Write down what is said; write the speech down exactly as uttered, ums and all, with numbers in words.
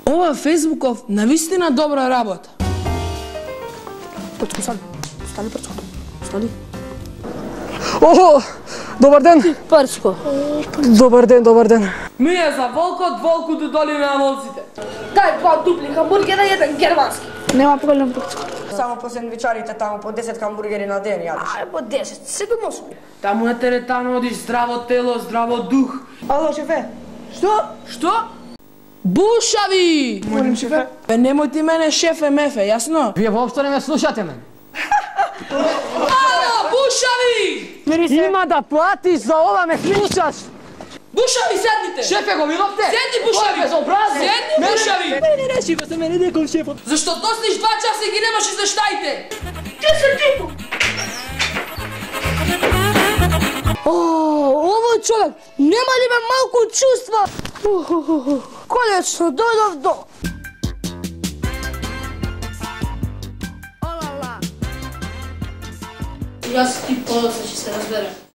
Ова Фејсбуков навистина добра работа. Прчко, стани. Стани, Прчко. Стани. Охо, добар ден. Прчко. Добар ден, добар ден. Ми е за волкот, волкото доли на волците. Дај два дупли хамбургера и еден германски. Нема проблем, Прчко. Само по сендвичарите таму по десет хамбургери на ден јадеш. Ај, по десет, седум осум. Таму на теретано одиш здраво тело, здраво дух. Ало, шефе. Што? Што? Бушави! Молим, шефе. Бе, немој ти мене шефе мефе, јасно? Вие воопшто не ме слушате мен. Ало, бушави! Има да платиш за ова, ме слушаш. Бушави, седните! Шефе, го видовте? Седни, бушави! Безобразно. Седни, бушави! Не, не, не, шефе, се мене некој шефот. Зашто досниш два часа и ги немаш извештаите? Ти се типо! О, овој човек, нема ли ме малку чувства? Конечно, дојдов до. Јас ти подоцна ќе се разберем.